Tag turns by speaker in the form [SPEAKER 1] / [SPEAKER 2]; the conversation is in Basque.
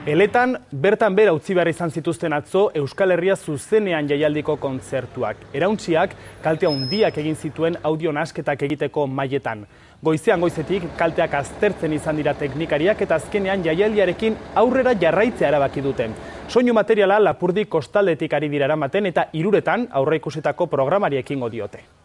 [SPEAKER 1] Eletan, bertan bera utzi behar izan zituzten atzo Euskal Herria zuzenean jaialdiko kontzertuak. Erauntziak kalte handiak egin zituen audio nasketak egiteko mailetan. Goizean goizetik kalteak aztertzen izan dira teknikariak eta azkenean jaialdiarekin aurrera jarraitzea erabaki dute. Soinu materiala Lapurdi kostaldetik ari dira eramaten eta 3 aurreikusitako programari ekingo diote.